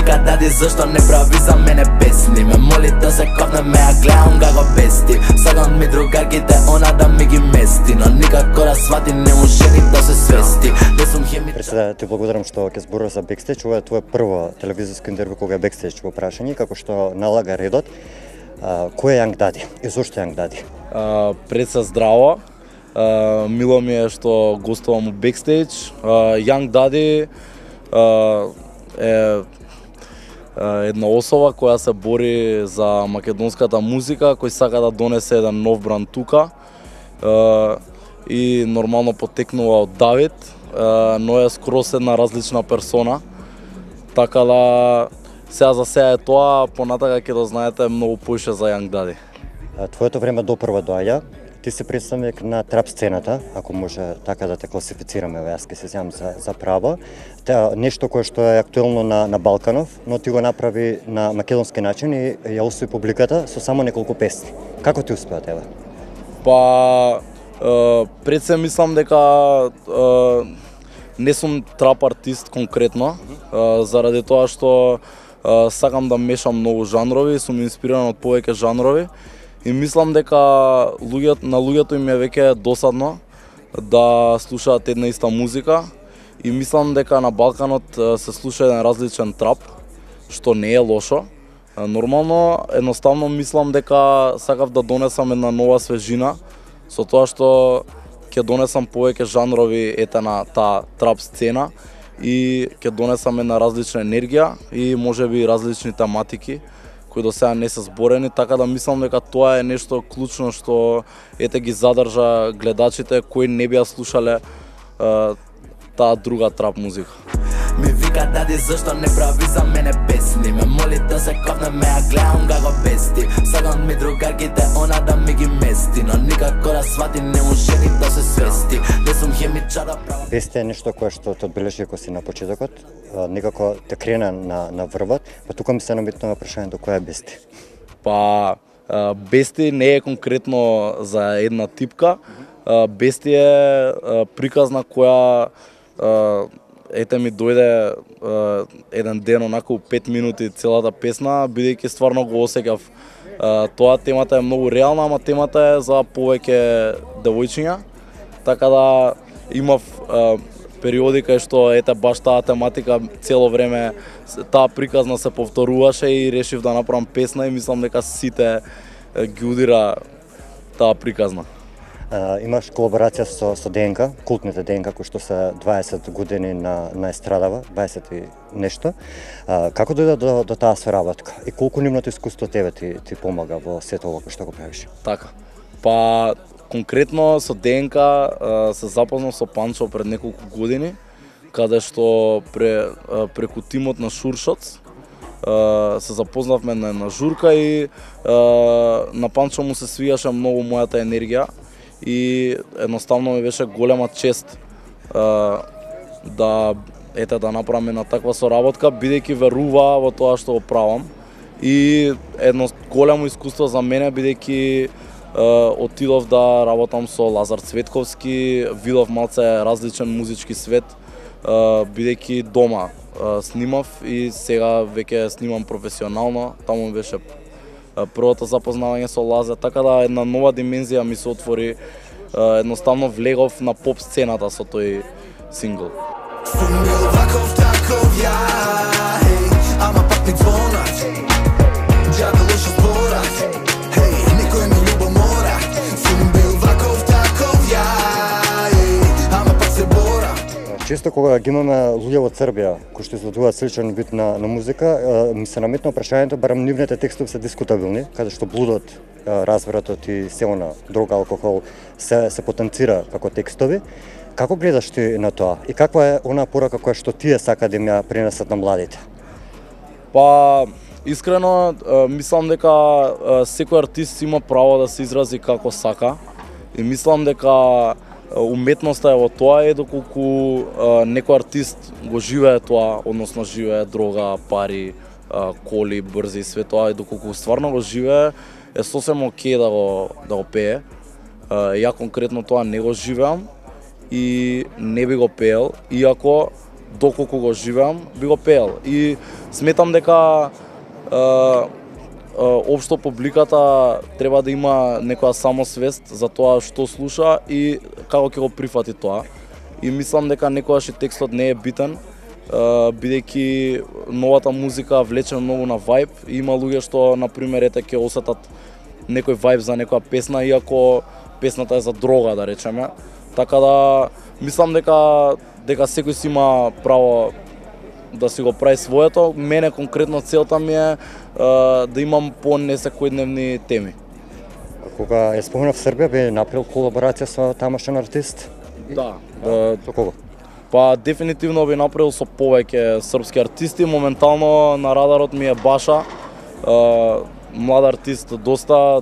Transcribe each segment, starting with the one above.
вика дади зашто не прави за мене песни. Ме моли да се копнем, ја гледам како бести. Сакам ми другарките, она да ми ги мести, но никако да свати, не може ни да се свести. Не сум хемичар. Преседа, ти благодарам што ќе зборуваш за бекстејдж. Ова е твое прво телевизиско интервју кога е бекстејдж во прашање, како што налага редот. Кој е Young Daddy и зошто Young Daddy? Пред се здраво. Мило ми е што гостувам у бекстејдж. Young Daddy е една особа која се бори за македонската музика, кој сака да донесе еден нов бранд тука. И нормално потекнува од Давид, но е скрос една различна персона. Така да сега е тоа, понатака ќе да знаете многу поише за Young Daddy. Твоето време допрва доаѓа. Ти си представник на трап сцената, ако може така да те класифицираме, јас ќе се земам за право. Нешто кое што е актуелно на Балканов, но ти го направи на македонски начин и ја освои публиката со само неколку песни. Како ти успеа тебе? Па пред се мислам дека не сум трап артист конкретно, заради тоа што сакам да мешам многу жанрови, сум инспириран од повеќе жанрови и мислам дека на луѓето им е веќе досадно да слушаат една иста музика и мислам дека на Балканот се слуша еден различен трап, што не е лошо. Нормално, едноставно мислам дека сакав да донесам една нова свежина со тоа што ќе донесам повеќе жанрови на таа трап сцена и ќе донесам една различна енергија и можеби различни тематики кои до сега не се зборени, така да мислам дека тоа е нешто клучно што ги задржа гледачите кои не би ја слушале таа друга трап музика. Ми вика дади зашто не прави за мене песни. Ме моли да се копнем, ја гледам како бести. Сакам ми другарките, она да ми ги мести, но никако да свати, не може ни да се свести. Не сум хемичар да правам. Бести е нешто кое што те одбележи кога си на почетокот, некако те крена на врвот, па тука ми се наметнува прашањето која е бести? Па бести не е конкретно за една типка. Бести е приказна која ми дојде еден ден онако 5 минути целата песна, бидејќи стварно го осеќав. Тоа темата е многу реална, ама темата е за повеќе девојчиња, така да имав периоди кај што баш таа тематика цело време таа приказна се повторуваше и решив да направам песна и мислам дека сите ги удира таа приказна. Имаш колаборација со ДНК, култните ДНК, кои што се 20 години на естрадава, 20 и нешто. Како дојде до таа соработка и колку нивното искуство тебе ти помага во сето ова што го правиш? Така. Па конкретно со ДНК се запознав со Панчо пред неколку години, каде што преку тимот на Шуршоц се запознавме на журка и на Панчо му се свијаше многу мојата енергија и едноставно ми беше голема чест да направиме на таква соработка, бидејќи верува во тоа што го правам и едно големо искуство за мене, бидејќи отидов да работам со Лазар Цветковски, видов малце различен музички свет, бидејќи дома снимав и сега веќе снимам професионално, таму беше првото запознавање со Лазар, така да една нова димензија ми се отвори, едноставно влегов на поп сцената со тој сингл. Сум бил ваков таков ја, ама пак ми звонат, џабе лошо зборат, никој ми љубомора. Сум бил ваков таков ја, ама пак се бора. Често кога ги имаме луѓе од Србија кои што изведуваат сличен вид на музика, ми се наметнува прашањето, барем нивните текстови се дискутабилни, каде што блудот, развратот и се она, дрога, алкохол се потенцира како текстови. Како гледаш ти на тоа и каква е она порака која што тие сака да ја пренесат на младите? Па искрено мислам дека секој артист има право да се изрази како сака и мислам дека уметноста е во тоа доколку некој артист го живее тоа, односно живее дрога, пари, коли, брзи, све тоа и доколку стварно го живее е сосем окей да го пее. Ја конкретно тоа не го живеам и не би го пеел, иако доколку го живеам, би го пеел. И сметам дека општо публиката треба да има некоја самосвест за тоа што слуша и како ќе го прифати тоа. И мислам дека некогаш и текстот не е битен, бидејќи новата музика влече многу на вајб и има луѓе што, например, ќе осетат некој вајб за некоја песна, иако песната е за дрога, да речеме. Така да мислам дека секој си има право да си го прави своето. Мене конкретно целта ми е да имам по-несекојдневни теми. Кога ја спомнав Србија, би направил колаборација со тамошен артист? Да. Со кого? Па дефинитивно би направил со повеќе српски артисти. Моментално на радарот ми е Баша, млад артист, доста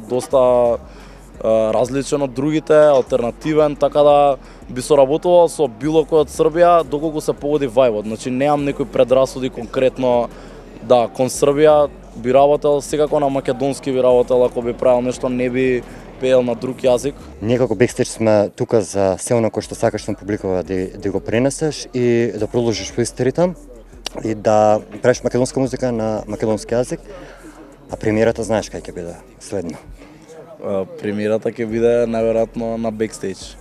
различен од другите, алтернативен, така да би соработувал со било кој од Србија доколку се погоди вајбот. Значи немам некои предрасуди конкретно кон Србија, би работел секако на македонски би работел, ако би правил нешто не би пеел на друг јазик. Ние како Бекстејдж сме тука за се оно кој што сакаш на публикува да го пренесеш и да продолжиш по исти ритам и да правиш македонска музика на македонски јазик. А премиерата знаеш кај ќе биде следно? Премиерата ќе биде најверојатно на Бекстејдж.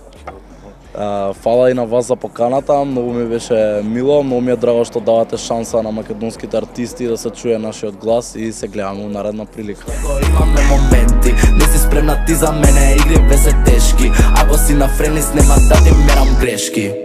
Фала и на вас за поканата, многу ми беше мило, многу ми е драго што давате шанса на македонските артисти да се чуе нашиот глас и се гледаме во наредна прилика. Имаме моменти, не си спремна ти за мене, игри ве се тешки. Ако си на френис, нема да ти мерам грешки.